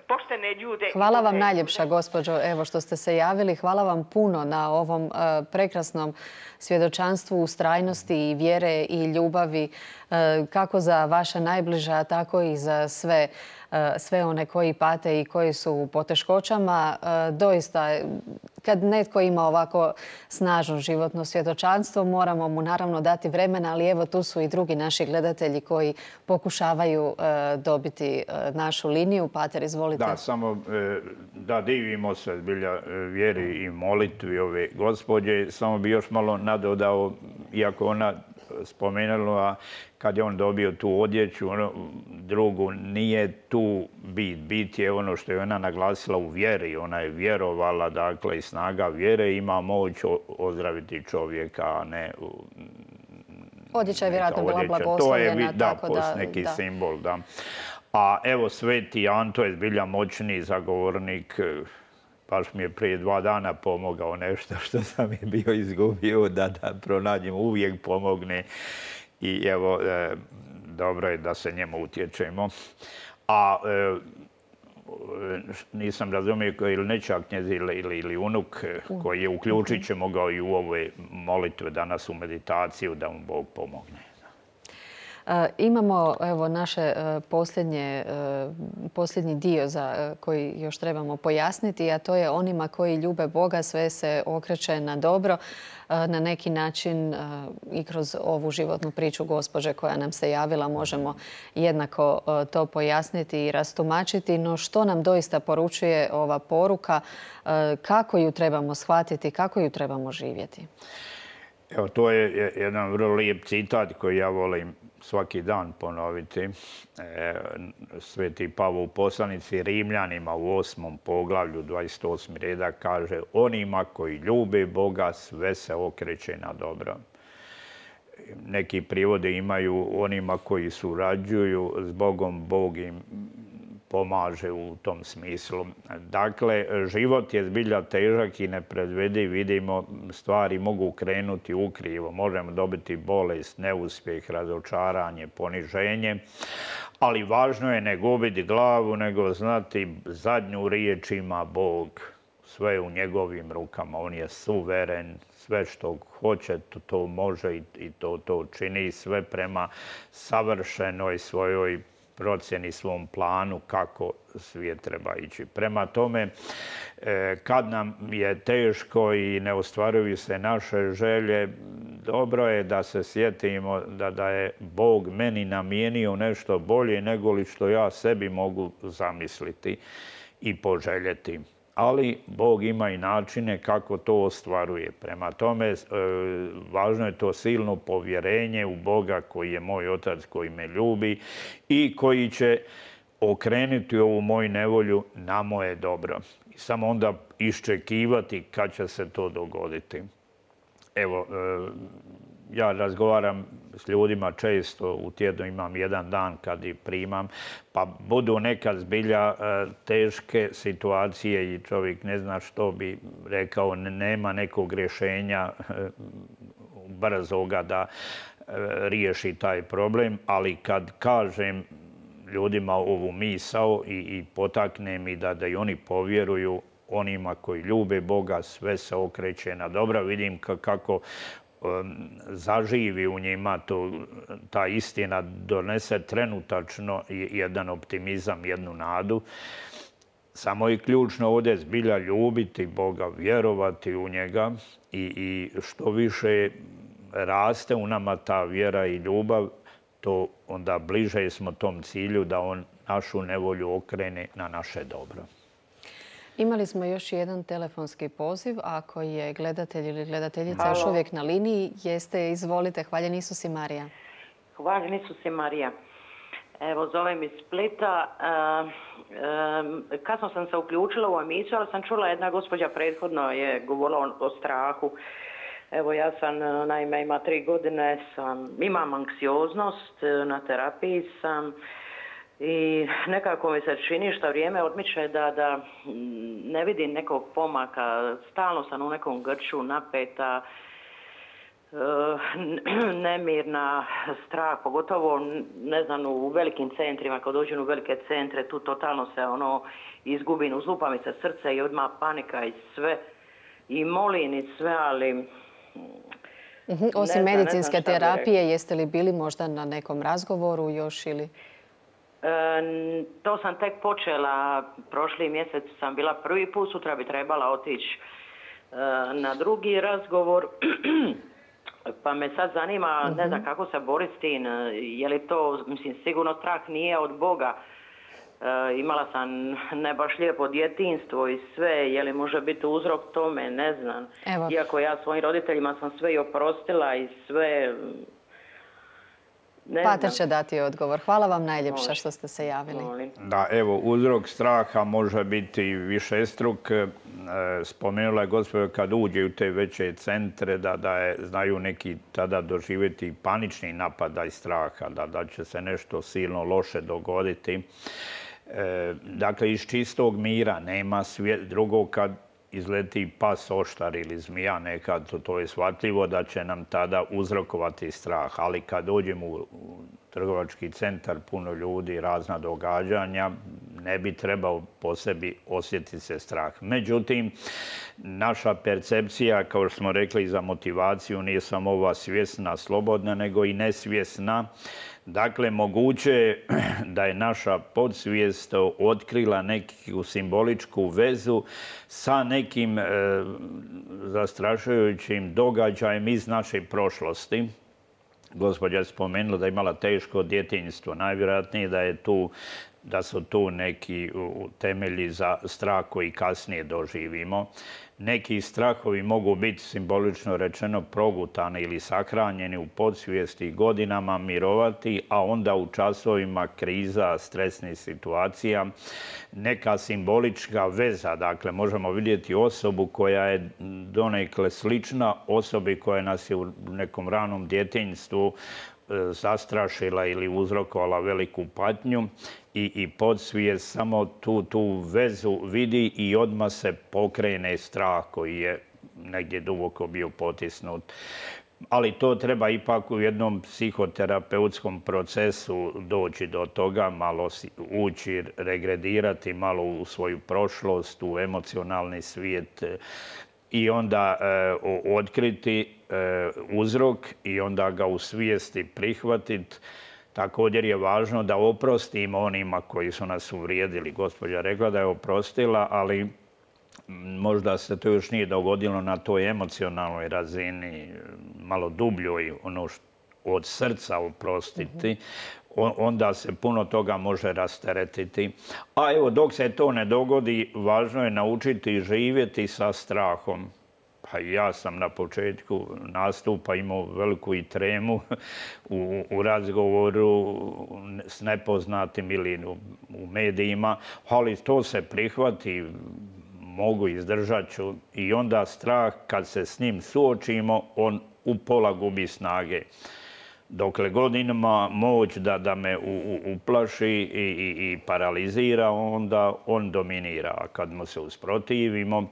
poštene ljude. Hvala vam najljepša, gospođo, evo što ste se javili. Hvala vam puno na ovom uh, prekrasnom svjedočanstvu ustrajnosti i vjere i ljubavi uh, kako za vaše najbliža, tako i za sve, uh, sve one koji pate i koji su u poteškoćama. Uh, doista, kad netko ima ovako snažno životno svjedočanstvo, moramo mu naravno dati vremena, ali evo tu su i drugi naši gledatelji koji pokušavaju uh, dobiti uh, našu liniju. Pater, izvolite. Da, samo da divimo se zbilja vjeri i molitvi ove gospođe. Samo bi još malo nadodao, iako ona spomenula kad je on dobio tu odjeću, ono, drugu, nije tu bit. Bit je ono što je ona naglasila u vjeri. Ona je vjerovala, dakle, i snaga vjere ima moć ozdraviti čovjeka, a ne... Odjeća je vjerojatno bila blagoslovljena. Da, tako da, neki da. simbol, da. A evo, Sveti Anto je zbilja moćni zagovornik. Baš mi je prije dva dana pomogao nešto što sam je bio izgubio, da, da pronađem, uvijek pomogne. I evo, e, dobro je da se njemu utječemo. A e, nisam razumio ili nećak njez ili, ili, ili unuk koji je uključit ćemo ga i u ove molitve danas u meditaciju da mu Bog pomogne. Imamo evo naše posljednje, posljednji dio za koji još trebamo pojasniti, a to je onima koji ljube Boga sve se okreće na dobro. Na neki način i kroz ovu životnu priču gospođe koja nam se javila možemo jednako to pojasniti i rastumačiti. No što nam doista poručuje ova poruka, kako ju trebamo shvatiti, kako ju trebamo živjeti? Evo, to je jedan vrlo lijep citat koji ja volim svaki dan ponoviti. E, Sveti Pavao u poslanici Rimljanima u osmom poglavlju, dvadeset osmi redak, kaže onima koji ljube Boga sve se okreće na dobro. neki prijevode imaju onima koji surađuju s Bogom, Bog im pomaže u tom smislu. Dakle, život je zbilja težak i nepredvidiv. Vidimo, stvari mogu krenuti ukrivo. Možemo dobiti bolest, neuspjeh, razočaranje, poniženje. Ali važno je ne gubiti glavu, nego znati zadnju riječ ima Bog. Sve je u njegovim rukama. On je suveren. Sve što hoće, to može i to, to čini. Sve prema savršenoj svojoj procjeni, svom planu kako svijet treba ići. Prema tome, kad nam je teško i ne ostvaruju se naše želje, dobro je da se sjetimo da, da je Bog meni namijenio nešto bolje nego li što ja sebi mogu zamisliti i poželjeti. Ali Bog ima i načine kako to ostvaruje. Prema tome, važno je to silno povjerenje u Boga koji je moj otac, koji me ljubi i koji će okrenuti ovu moju nevolju na moje dobro. I samo onda iščekivati kad će se to dogoditi. Evo, ja razgovaram s ljudima često, u tjednu imam jedan dan kad ih primam, pa budu nekad zbilja teške situacije i čovjek ne zna što bi rekao, nema nekog rješenja brzoga da riješi taj problem, ali kad kažem ljudima ovu misao i, i potaknem i da, da i oni povjeruju onima koji ljube Boga, sve se okreće na dobro. Vidim kako zaživi u njima to, ta istina donese trenutačno jedan optimizam, jednu nadu. Samo je ključno ovdje zbilja ljubiti Boga, vjerovati u njega i, i što više raste u nama ta vjera i ljubav, to onda bliže smo tom cilju da on našu nevolju okrene na naše dobro. Imali smo još jedan telefonski poziv. Ako je gledatelj ili gledateljica Halo. još uvijek na liniji, jeste, izvolite. Hvaljen Isus i Marija. Hvaljen Isus i Marija. Evo, zovem iz Splita. E, e, kasno sam se uključila u emisiju, ali sam čula jedna gospođa prethodno je govorila o, o strahu. Evo, ja sam, naime, ima tri godine, sam, imam anksioznost, na terapiji sam. I nekako mi se čini što vrijeme odmiče da, da ne vidim nekog pomaka. Stalno sam u nekom grču, napeta, nemirna, strah, pogotovo ne znam u velikim centrima, kad dođem u velike centre, tu totalno se ono izgubim, uzlupa mi se srce i odmah panika i sve. I molim i sve, ali... Uh-huh. Osim ne medicinske ne znam terapije, jeste li bili možda na nekom razgovoru još ili... E, to sam tek počela, prošli mjesec sam bila prvi put, sutra bi trebala otići e, na drugi razgovor. Pa me sad zanima, uh-huh. ne znam kako se boriti s tim, je li to, mislim, sigurno strah nije od Boga. E, imala sam ne baš lijepo djetinjstvo i sve, je li može biti uzrok tome, ne znam. Evo. Iako ja svojim roditeljima sam sve i oprostila i sve... Pater će dati odgovor. Hvala vam najljepša što ste se javili. Da, evo, uzrok straha može biti višestruk. Spomenula je gospođa kad uđe u te veće centre da, da je, znaju neki tada doživjeti panični napadaj straha, da, da će se nešto silno loše dogoditi. E, dakle, iz čistog mira nema svijet drugog kad izleti pas, oštar ili zmija nekad, to, to je shvatljivo da će nam tada uzrokovati strah. Ali kad dođemo u, u trgovački centar, puno ljudi, razna događanja, ne bi trebao po sebi osjetiti se strah. Međutim, naša percepcija, kao što smo rekli, za motivaciju nije samo ova svjesna, slobodna, nego i nesvjesna. Dakle, moguće je da je naša podsvijest otkrila neku simboličku vezu sa nekim e, zastrašujućim događajem iz naše prošlosti. Gospođa je spomenula da je imala teško djetinjstvo. Najvjerojatnije da je tu da su tu neki temelji za strah koji kasnije doživimo. Neki strahovi mogu biti, simbolično rečeno, progutani ili sahranjeni u podsvijesti godinama mirovati, a onda u časovima kriza, stresnih situacija, neka simbolička veza. Dakle, možemo vidjeti osobu koja je donekle slična osobi koja nas je u nekom ranom djetinjstvu zastrašila ili uzrokovala veliku patnju i, i podsvijest samo tu, tu vezu vidi i odmah se pokrene strah koji je negdje duboko bio potisnut. Ali to treba ipak u jednom psihoterapeutskom procesu doći do toga, malo ući, regredirati malo u svoju prošlost, u emocionalni svijet i onda e, otkriti e, uzrok i onda ga u svijesti prihvatiti. Također je važno da oprostimo onima koji su nas uvrijedili. Gospođa rekla da je oprostila, ali možda se to još nije dogodilo na toj emocionalnoj razini, malo dubljoj, ono što od srca oprostiti, onda se puno toga može rasteretiti. A evo, dok se to ne dogodi, važno je naučiti živjeti sa strahom. Pa ja sam na početku nastupa imao veliku i tremu u, u razgovoru s nepoznatim ili u, u medijima, ali to se prihvati, mogu, izdržat ću i onda strah, kad se s njim suočimo, on u pola gubi snage. Dokle god ima moć da, da me u, u, uplaši i, i, i paralizira, onda on dominira. A kad mu se usprotivimo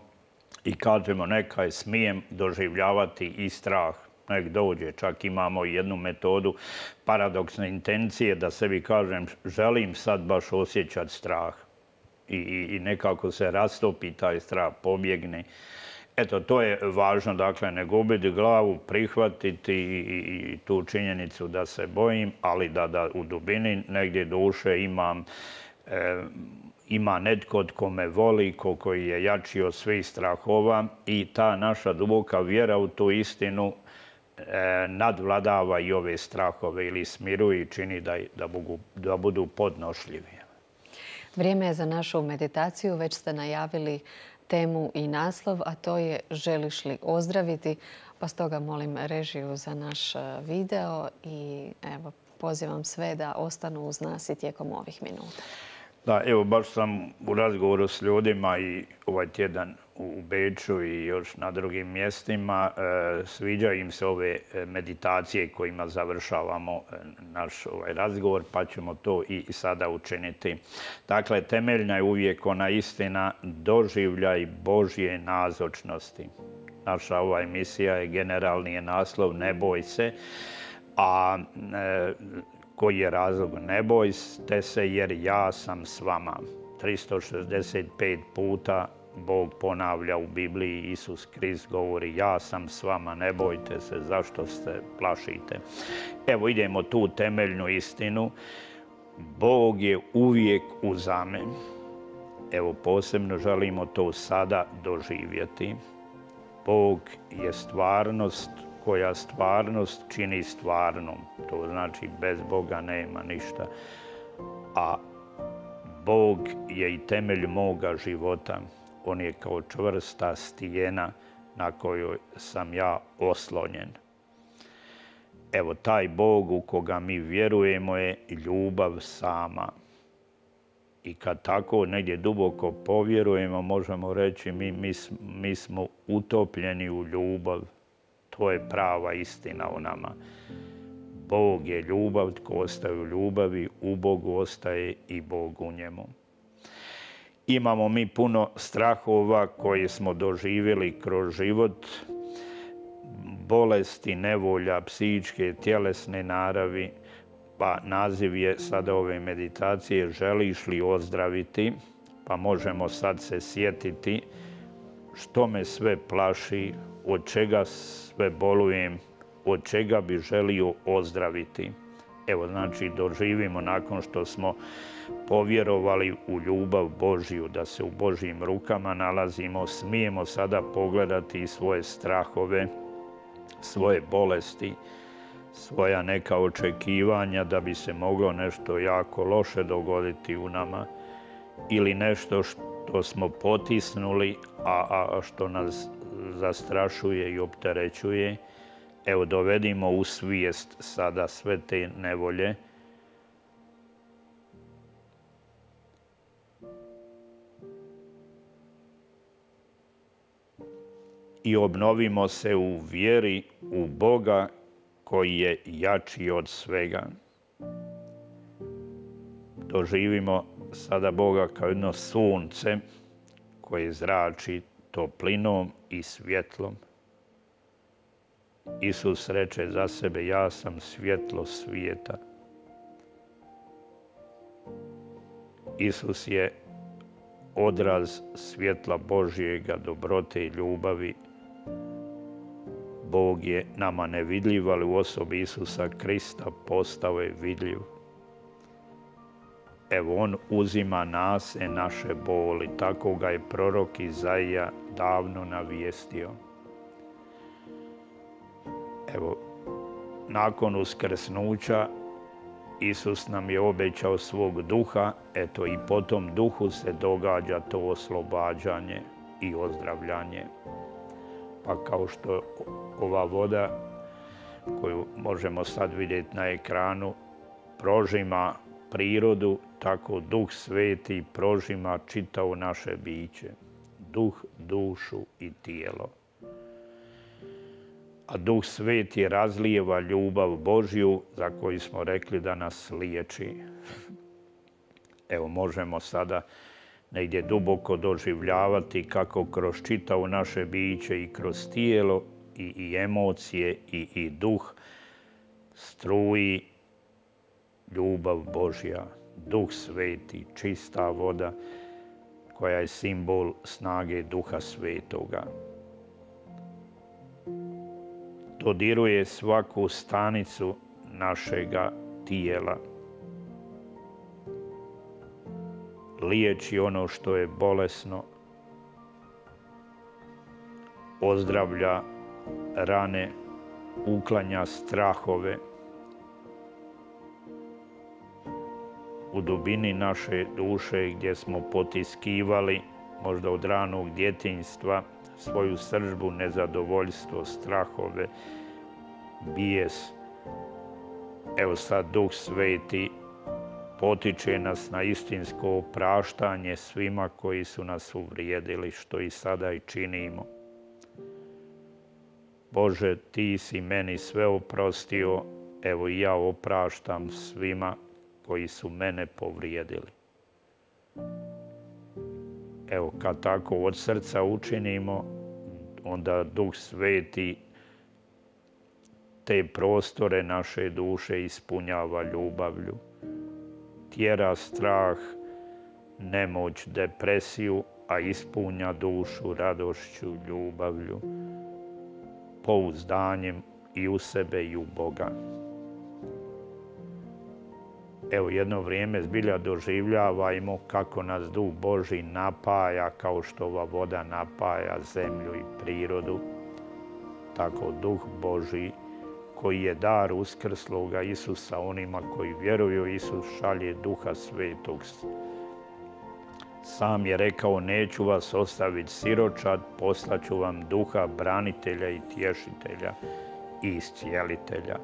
i kažemo nekaj smijem doživljavati i strah, nek dođe. Čak imamo jednu metodu paradoksne intencije da sebi kažem želim sad baš osjećati strah. I, i, i nekako se rastopi taj strah, pobjegne. Eto, to je važno, dakle, ne gubiti glavu, prihvatiti i, i, i tu činjenicu da se bojim, ali da, da u dubini negdje duše imam, e, ima netko tko me voli, ko, koji je jači od svih strahova i ta naša duboka vjera u tu istinu e, nadvladava i ove strahove ili smiruje i čini da, da, budu, da budu podnošljivi. Vrijeme je za našu meditaciju, već ste najavili temu i naslov, a to je želiš li ozdraviti, pa stoga molim režiju za naš video i evo, pozivam sve da ostanu uz nas i tijekom ovih minuta. Da, evo, baš sam u razgovoru s ljudima i ovaj tjedan u Beču i još na drugim mjestima. E, sviđaju im se ove meditacije kojima završavamo naš ovaj razgovor, pa ćemo to i sada učiniti. Dakle, temeljna je uvijek ona istina, doživljaj Božje nazočnosti. Naša ova emisija je generalni je naslov Ne boj se, a e, koji je razlog? Ne bojte se jer ja sam s vama. tristo šezdeset pet puta Bog ponavlja u Bibliji, Isus Krist govori ja sam s vama, ne bojte se, zašto se plašite. Evo idemo tu temeljnu istinu. Bog je uvijek uz nami. Evo posebno želimo to sada doživjeti. Bog je stvarnost koja stvarnost čini stvarnom. To znači bez Boga nema ništa. A Bog je i temelj moga života. On je kao čvrsta stijena na kojoj sam ja oslonjen. Evo, taj Bog u koga mi vjerujemo je ljubav sama. I kad tako negdje duboko povjerujemo, možemo reći mi, mi, mi smo utopljeni u ljubav. To je prava istina o nama. Bog je ljubav, tko ostaje u ljubavi, u Bogu ostaje i Bog u njemu. Imamo mi puno strahova koje smo doživjeli kroz život, bolesti, nevolja, psihičke, tjelesne naravi, pa naziv je sada ove meditacije želiš li ozdraviti, pa možemo sad se sjetiti što me sve plaši, od čega sve bolujem, od čega bi želio ozdraviti. Evo, znači, doživimo nakon što smo povjerovali u ljubav Božju, da se u Božjim rukama nalazimo, smijemo sada pogledati svoje strahove, svoje bolesti, svoja neka očekivanja da bi se moglo nešto jako loše dogoditi u nama ili nešto što smo potisnuli, a, a što nas zastrašuje i opterećuje. Evo, dovedimo u svijest sada sve te nevolje i obnovimo se u vjeri u Boga koji je jači od svega. Doživimo sada Boga kao jedno sunce koje zrači toplinom i svjetlom. Isus reče za sebe, ja sam svjetlo svijeta. Isus je odraz svjetla Božjega, dobrote i ljubavi. Bog je nama nevidljiv, ali u osobi Isusa Krista postao je vidljiv. Evo, on uzima nas i naše boli. Tako ga je prorok Izaija davno navijestio. Evo, nakon uskrsnuća Isus nam je obećao svog duha, eto i po tom duhu se događa to oslobađanje i ozdravljanje. Pa kao što ova voda koju možemo sad vidjeti na ekranu prožima prirodu, tako Duh Sveti prožima čitavo naše biće. Duh, dušu i tijelo. A Duh Sveti razlijeva ljubav Božju za koju smo rekli da nas liječi. Evo, možemo sada negdje duboko doživljavati kako kroz čitavo naše biće i kroz tijelo i, i emocije i, i duh struji ljubav Božja. Duh Sveti, čista voda koja je simbol snage Duha Svetoga. Dodiruje svaku stanicu našega tijela. Liječi ono što je bolesno. Ozdravlja rane, uklanja strahove. U dubini naše duše gdje smo potiskivali, možda od ranog djetinjstva, svoju sržbu, nezadovoljstvo, strahove, bijes. Evo sad Duh Sveti potiče nas na istinsko opraštanje svima koji su nas uvrijedili, što i sada i činimo. Bože, ti si meni sve oprostio, evo i ja opraštam svima koji su mene povrijedili. Evo, kad tako od srca učinimo, onda Duh Sveti te prostore naše duše ispunjava ljubavlju. Tjera strah, nemoć, depresiju, a ispunja dušu radošću, ljubavlju, pouzdanjem i u sebe i u Boga. Evo, jedno vrijeme zbilja doživljavajmo kako nas Duh Božji napaja, kao što ova voda napaja zemlju i prirodu. Tako Duh Božji, koji je dar uskrsloga Isusa onima koji vjeruju, Isus šalje Duha Svetog. Sam je rekao, neću vas ostaviti siročad, poslaću vam Duha branitelja i tješitelja i iscijelitelja.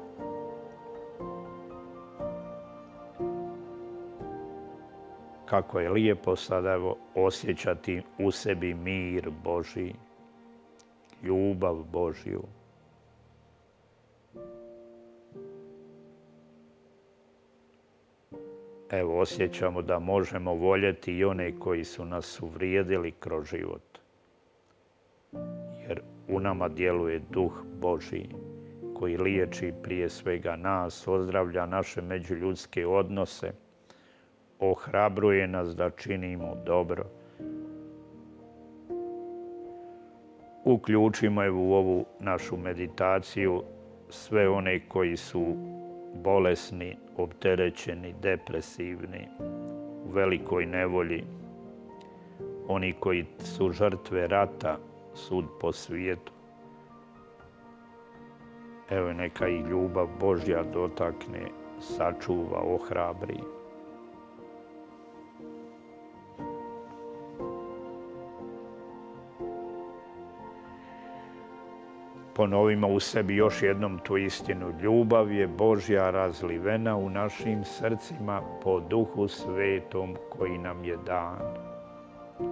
Kako je lijepo sada evo, osjećati u sebi mir Božji, ljubav Božju. Evo, osjećamo da možemo voljeti i one koji su nas uvrijedili kroz život. Jer u nama djeluje Duh Božji koji liječi prije svega nas, ozdravlja naše međuljudske odnose, ohrabruje nas da činimo dobro. Uključimo evo u ovu našu meditaciju sve one koji su bolesni, opterećeni, depresivni, u velikoj nevolji, oni koji su žrtve rata, sud po svijetu. Evo neka i ljubav Božja dotakne, sačuva, ohrabri. Ponovimo u sebi još jednom tu istinu. Ljubav je Božja razlivena u našim srcima po Duhu Svetom koji nam je dan.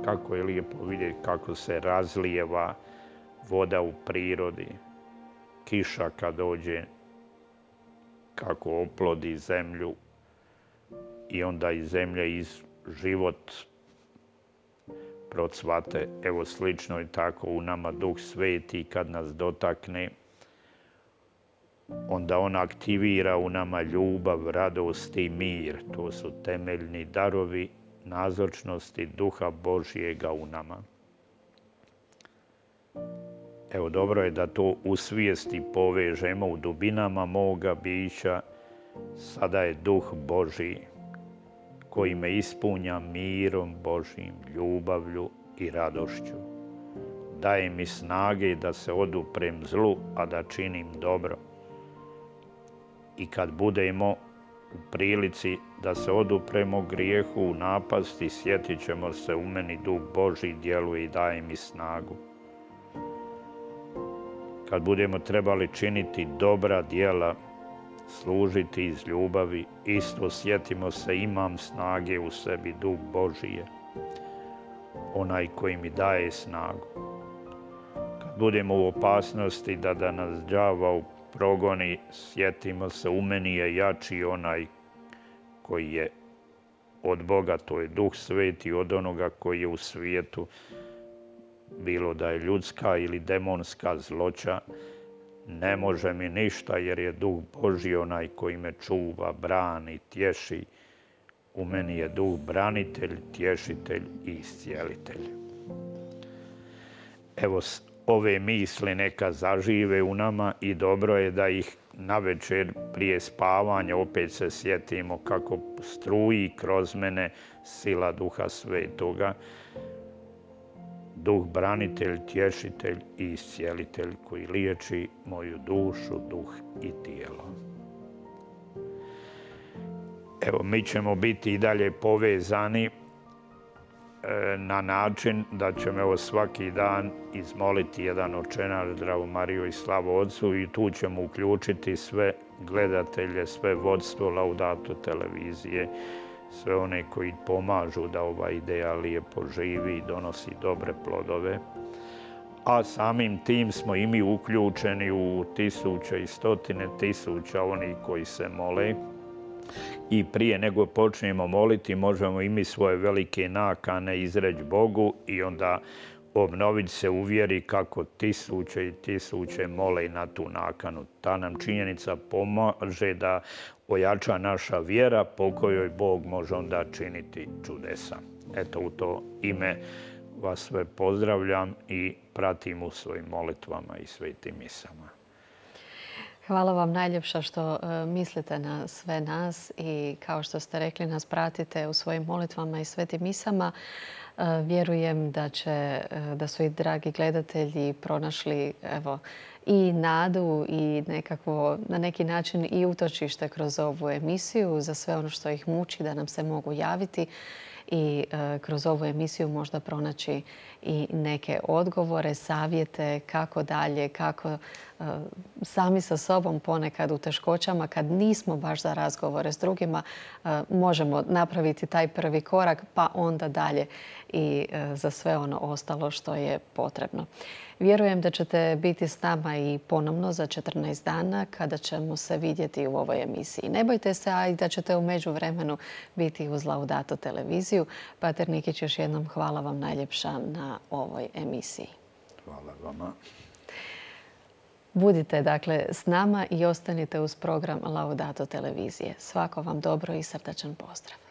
Kako je lijepo vidjeti kako se razlijeva voda u prirodi. Kiša kad dođe, kako oplodi zemlju i onda iz zemlje iz život procvate. Evo slično je tako u nama Duh Sveti kad nas dotakne, onda on aktivira u nama ljubav, radost i mir. To su temeljni darovi nazočnosti Duha Božjega u nama. Evo, dobro je da to u svijesti povežemo u dubinama moga bića. Sada je Duh Božji koji me ispunja mirom Božjim, ljubavlju i radošću. Daje mi snage da se oduprem zlu, a da činim dobro. I kad budemo u prilici da se odupremo grijehu u napasti, sjetit ćemo se u meni Duh Božji djeluje i daje mi snagu. Kad budemo trebali činiti dobra djela, služiti iz ljubavi, isto sjetimo se imam snage u sebi, Duh Božji, onaj koji mi daje snagu. Kad budemo u opasnosti da, da nas đavao progoni, sjetimo se u meni je jači onaj koji je od Boga, to je Duh Sveti, od onoga koji je u svijetu, bilo da je ljudska ili demonska zloća, ne može mi ništa jer je Duh Božji onaj koji me čuva, brani, tješi. U meni je Duh branitelj, tješitelj i iscijelitelj. Evo, ove misli neka zažive u nama i dobro je da ih navečer prije spavanja opet se sjetimo kako struji kroz mene sila Duha Svetoga. Duh branitelj, tješitelj i iscijelitelj koji liječi moju dušu, duh i tijelo. Evo, mi ćemo biti i dalje povezani na način da ćemo evo svaki dan izmoliti jedan očenaš, Zdravu Mariju i slavu Otcu, i tu ćemo uključiti sve gledatelje, sve vodstvo Laudato televizije, sve one koji pomažu da ova ideja lijepo živi i donosi dobre plodove. A samim tim smo i mi uključeni u tisuće i stotine tisuća onih koji se mole. I prije nego počnemo moliti, možemo i mi svoje velike nakane izreći Bogu i onda obnoviti se u vjeri kako tisuće i tisuće mole na tu nakanu. Ta nam činjenica pomaže da ojača naša vjera po kojoj Bog može onda činiti čudesa. Eto, u to ime vas sve pozdravljam i pratim u svojim molitvama i svetim misama. Hvala vam najljepša što mislite na sve nas i kao što ste rekli nas pratite u svojim molitvama i svetim misama. Vjerujem da, će, da su i dragi gledatelji pronašli evo, i nadu i nekakvo, na neki način i utočište kroz ovu emisiju za sve ono što ih muči da nam se mogu javiti i e, kroz ovu emisiju možda pronaći i neke odgovore, savjete kako dalje, kako e, sami sa sobom ponekad u teškoćama kad nismo baš za razgovore s drugima e, možemo napraviti taj prvi korak pa onda dalje i e, za sve ono ostalo što je potrebno. Vjerujem da ćete biti s nama i ponovno za četrnaest dana kada ćemo se vidjeti u ovoj emisiji. Ne bojte se, a i da ćete u međuvremenu biti uz Laudato televiziju. Pater Nikić, još jednom hvala vam najljepša na ovoj emisiji. Hvala vama. Budite dakle s nama i ostanite uz program Laudato televizije. Svako vam dobro i srdačan pozdrav.